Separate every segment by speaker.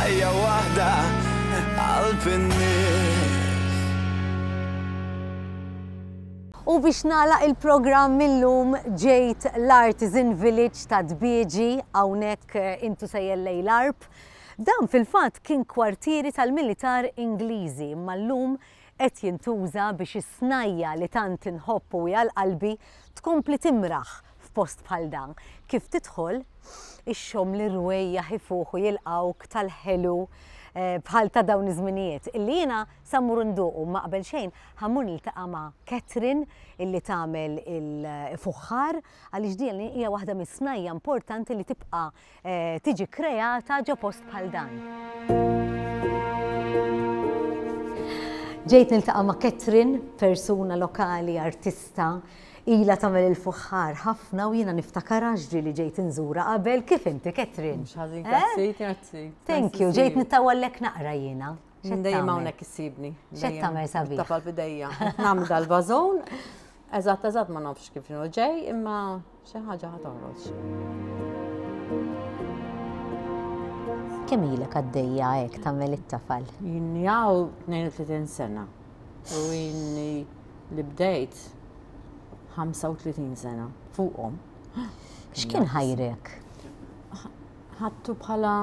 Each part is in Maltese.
Speaker 1: Ħajja waħda qalb in-nies.
Speaker 2: U biex nagħlaq il-programm illum ġejt l-Artisan Village ta' Dbieġi hawnhekk eh, intu sejjer lejn l-Għarb. Dan fil-fatt kien kwartieri tal-militar Ingliżi imma llum qed jintuża biex is-snajja li tant inħobb u hi għal qalbi tkompli timraħ f'post bħal dan. Kif tidħol, ixxomm l-irwejjaħ ifuħu jilqgħuk tal-ħelu eh, bħal ta' dawn iż-żminijiet illi jiena sa mmur nduqu ma qabel xejn ħa mmur niltaqa' ma' Catherine illi tagħmel il-fuħħar għaliex din hija waħda mis-snajja importanti li tibqa' tiġi kreata ġo post bħal dan. Ġejt niltaqa' ma' Catherine, persuna lokali, artista, ilha tagħmel il-fuħħar ħafna u jiena niftakarha ġieli ġejt inżura qabel. Kif inti, Catherine?
Speaker 3: Mhux ħażin, grazzi, grazzi.
Speaker 2: Thank you, ġejt nittawallek naqra jiena.
Speaker 3: Dejjem hawnhekk issibni.
Speaker 2: X'qed tagħmel sabiħ?
Speaker 3: Tafal f'idejja. Nagħmel dal-vażun. Eżatt, eżatt ma nafx kif inhu ġej, imma xi ħaġa ħa toħroġ.
Speaker 2: Kemm ilek għaddejja hekk tagħmel it-tafal?
Speaker 3: Inni hawn 32 sena. U inni li bdejt 35 sena fuqhom.
Speaker 2: X'kien ħajrek?
Speaker 3: Ħadtu bħala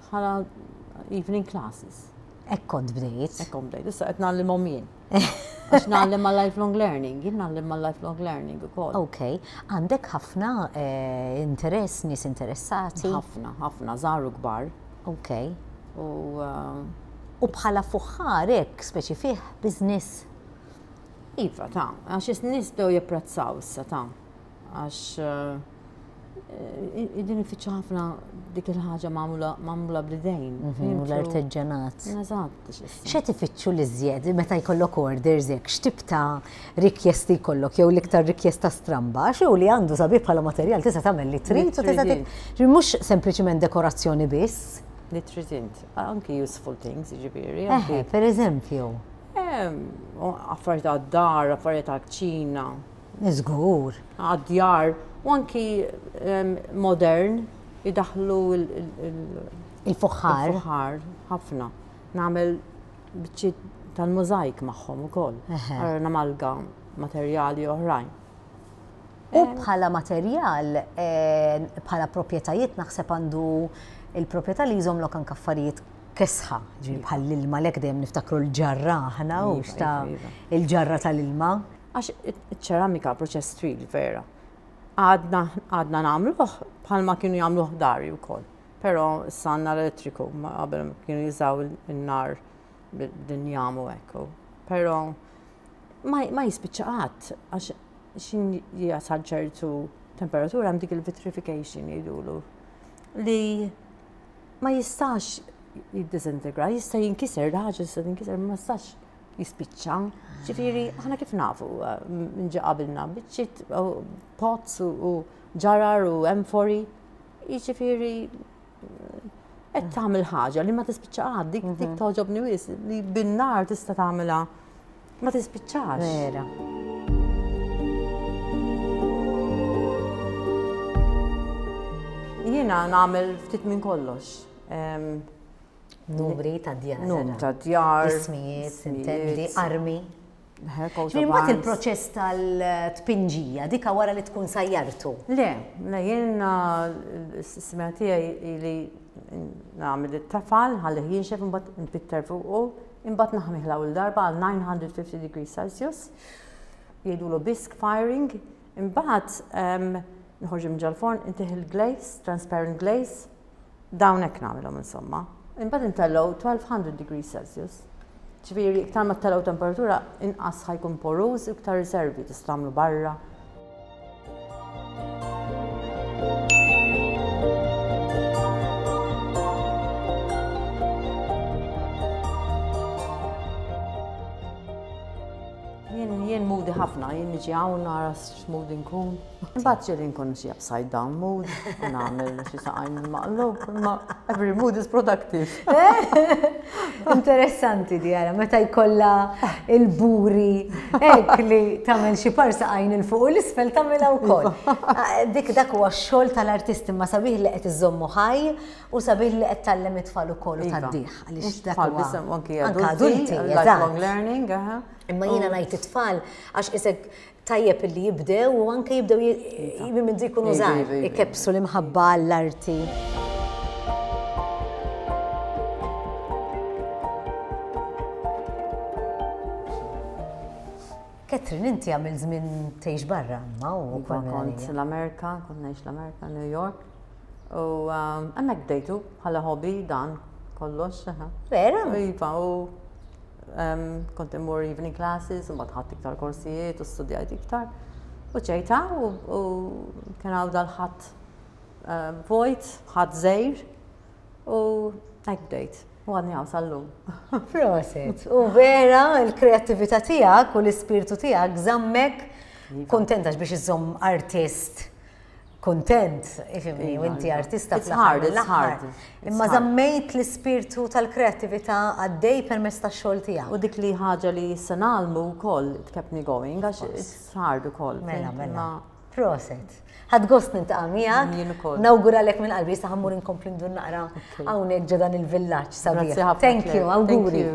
Speaker 3: bħala evening classes.
Speaker 2: Hekk kont bdejt.
Speaker 3: Hekk kont bdejt. Issa qed ngħallimhom jien. Għax ngħallem ma' lifelong learning, jien ngħallem ma' lifelong learning ukoll.
Speaker 2: Ok, għandek ħafna eh, interess, nies interessati?
Speaker 3: Ħafna, ħafna, żgħar u kbar.
Speaker 2: Ok.
Speaker 3: U eh,
Speaker 2: U bħala fuħħar hekk speċi fih business?
Speaker 3: Iva, ta' għax nies bdew japprezzaw issa ta' għax eh, Din ifittxu ħafna dik il-ħaġa magħmula bl-idejn.
Speaker 2: Mhm, u l-arteġġanat.
Speaker 3: Eżatt.
Speaker 2: X'qed ifittxu l-iżjed meta jkollok orders hekk, x'tip ta' rikjesti jkollok jew l-iktar rikjesta stramba, għax li għandu sabiħ bħala materjal tista' tagħmel li trid u tista' mhux sempliċiment dekorazzjoni biss.
Speaker 3: Li trid int, anki useful things, jiġifieri.
Speaker 2: Per eżempju.
Speaker 3: Affarijiet għad-dar, affarijiet għall-kċina.
Speaker 2: Żgur.
Speaker 3: Għad-djar u anki modern idaħlu
Speaker 2: il-fuħħar.
Speaker 3: Il-fuħħar, ħafna. Nagħmel biċċiet tal-mużajk magħhom ukoll. Allura namalga materjali oħrajn.
Speaker 2: U bħala materjal, eh, bħala proprjetajiet naħseb għandu il-proprjetà li jżommlok anke affarijiet kesħa, ġifieri bħal l-ilma lek dejjem niftakru l-ġarra aħna u iva, xta iva, iva. il-ġarra tal-ilma.
Speaker 3: Għax iċ-ċeramika proċess twil vera. Għadna għadna nagħmluh bħalma kienu jagħmluh dari wkoll. Però issa għandna l-elettriku, qabel kienu jużaw in-nar b'dinjam u hekk. Però ma jispiċċa qatt għax xin jasal ċertu temperatura hemm dik il-vitrification jgħidulu li ma jistax jiddisintegra, jista' jinkiser, ħaġa jista' jinkiser, ma jistax jispiċċa. Ġifieri, aħna kif nafu eh, minn ġi qabilna biċċiet pots u ġarar u emfori. Jiġifieri qed tagħmel ħaġa li ma tispiċċa qatt, dik dik mhm. toġobni wis li bin-nar tista' tagħmilha ma tispiċċax.
Speaker 2: Vera.
Speaker 3: Jiena nagħmel ftit minn kollox.
Speaker 2: Numri ta' djar.
Speaker 3: Numri ta' djar.
Speaker 2: Ismijiet, intendi, armi. Mbagħad il-proċess tal-tpinġija, dika wara li tkun sajjartu.
Speaker 3: Le, le jiena s-sistema tiegħi li nagħmel it-tafal ħalli jinxef imbagħad npitter fuqu, imbagħad naħmih l-ewwel darba għal 950 degrees Celsius. Jgħidulu bisque firing, imbagħad nħorġu minn ġol-forn, intih il-glaze, transparent glaze, Dawn hekk nagħmilhom insomma. Imbagħad intellgħu 1200 degrees Celsius. Ġifieri iktar ma ttellgħu temperatura inqas ħajkun poruż u iktar riservi tista' tagħmlu barra. Jien jien moody ħafna, jien niġi hawn nara x'mood inkun.
Speaker 2: Il-prodotti.
Speaker 3: Imbagħad ġieli nkun xi upside down mood u nagħmel xi saqajn maqlub, imma every mood is productive.
Speaker 2: Interessanti di għara, meta jkollha il-buri hekk li tagħmel xi par saqajn il fuq u l-isfel tagħmilha wkoll. Ah, dik dak huwa x-xogħol tal-artist imma sabiħ li qed iżommu ħaj u sabiħ li qed tgħallem it-tfal ukoll u iva. tgħaddih
Speaker 3: għaliex dak huwa. Anke adulti, lifelong learning.
Speaker 2: Imma jiena ngħid it-tfal għax isek Tajjeb illi jibdew u anke jibdew minn mindu jkunu żgħar ikebbsu l-imħabba għall-arti. Catherine, inti għamil żmien tgħix barra, ma u
Speaker 3: iva, kont l-Amerika, kont ngħix l-Amerika, New York. U um, hemmhekk bdejtu bħala hobby dan kollox.
Speaker 2: Vera?
Speaker 3: Iva, u Kont immur evening classes, u mbagħad ħadt iktar korsijiet u studjajt iktar. U ġejta u kien hawn dal-ħadd eh, vojt, ħadd żejr u hekk bdejt. U għadni hawn sal-lum.
Speaker 2: Proset. U vera l-kreattività tiegħek u l-ispirtu tiegħek żammek iva. kuntenta biex iżomm artist kuntent, ifimni, u inti iva. artista
Speaker 3: fl-aħħar. It's hard.
Speaker 2: Imma żammejt l-ispirtu tal-kreattività għaddej permezz tax-xogħol tiegħek.
Speaker 3: U dik li ħaġa li issa nagħlmu wkoll it kept me going għax it's hard ukoll.
Speaker 2: Mela, mela. Proset. Ħadd gost nintaqa' miegħek. Jien ukoll. Nawguralek minn qalbi issa ħammur inkompli ndur naqra hawnhekk ġo dan il-villaġġ sabiħ. Thank you, awguri.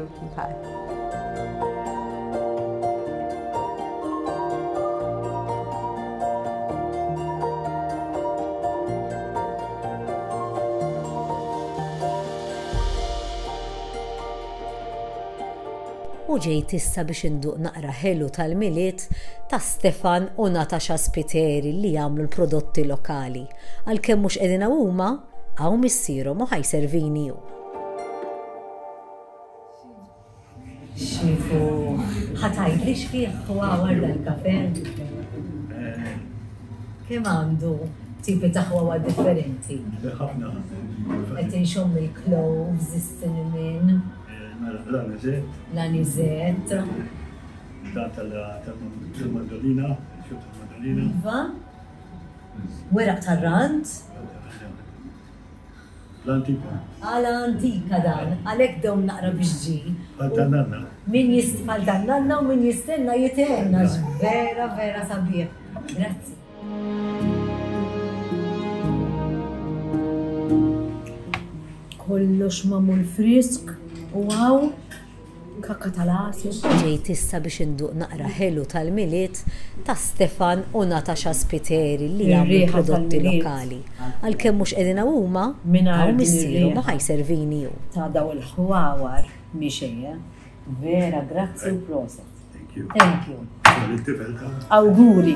Speaker 2: U ġejt issa biex induq naqra ħelu tal-Milied ta' Stefan u Natasha Spiteri li jagħmlu l-prodotti lokali. Għalkemm mhux qegħdin hawn huma, hawn missierhom u ħa jservini hu. Xifu, ħa tgħidli x'fih ħwawar dal-kafe? Kemm għandu tipi ta' ħwawar differenti?
Speaker 4: Ħafna.
Speaker 2: Qed inxomm il-cloves, is-cinnamon.
Speaker 4: Mela, l-anizett.
Speaker 2: L-anizett.
Speaker 4: Dan tal-mandolina, xut tal-mandolina.
Speaker 2: Iva. Weraq tar-rand.
Speaker 4: L-antika.
Speaker 2: Għala antika dan, għalhekk dew naqra biex ġie.
Speaker 4: Għal tan-nanna.
Speaker 2: Min għal tan-nanna u min jistenna jitenna vera vera sabiħ. Grazzi. Kollox magħmul frisk u hawn Kakka tal-għasel. Ġejt issa biex induq naqra ħelu tal-Milied ta' Stefan u Natasha Spiteri li jagħmlu prodotti lokali. Għalkemm mhux qegħdin hawn huma, hawn missierhom u ħa jservini hu.
Speaker 5: Ta' daw il-ħwawar mhi xejn, eh? Vera grazzi u proset.
Speaker 4: Thank you.
Speaker 5: Thank you. Awguri.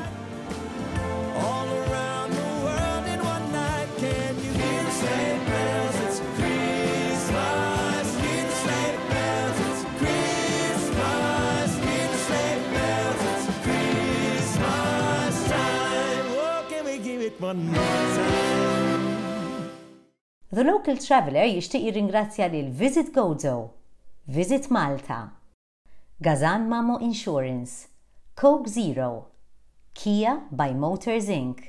Speaker 2: The Local Traveller jixtieq jirringrazzja lil Visit Gozo, Visit Malta, Gazan Mamo Insurance, Coke Zero, Kia by Motors Inc.,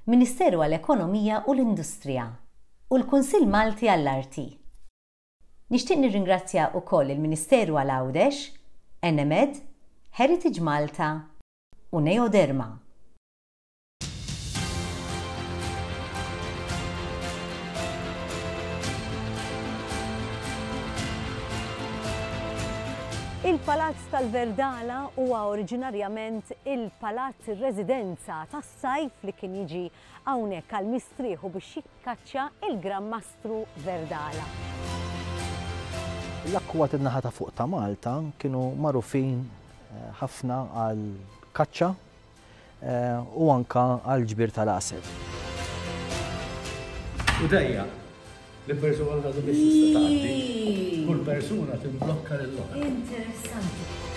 Speaker 2: Ministeru għall-Ekonomija u l-Industrija, u l-Kunsill Malti għall-Arti. Nixtieq nirringrazzja wkoll il-Ministeru għal Għawdex, Enemed, Heritage Malta u Neoderma. Il-Palazz tal-Verdala huwa oriġinarjament il-palazz ir-residenza tas-sajf li kien jiġi hawnhekk għall-mistrieħ u biex jikkaċċja il-Gran Mastru Verdala.
Speaker 6: L-akkwati n-naħa ta' fuq ta' Malta kienu magħrufin ħafna għall-kaċċa u anke għall-ġbir tal-għasel.
Speaker 4: U dejjaq li persuna waħda biss tista' tgħaddi. Kull persuna timblokka lill-oħra.
Speaker 2: Interessanti.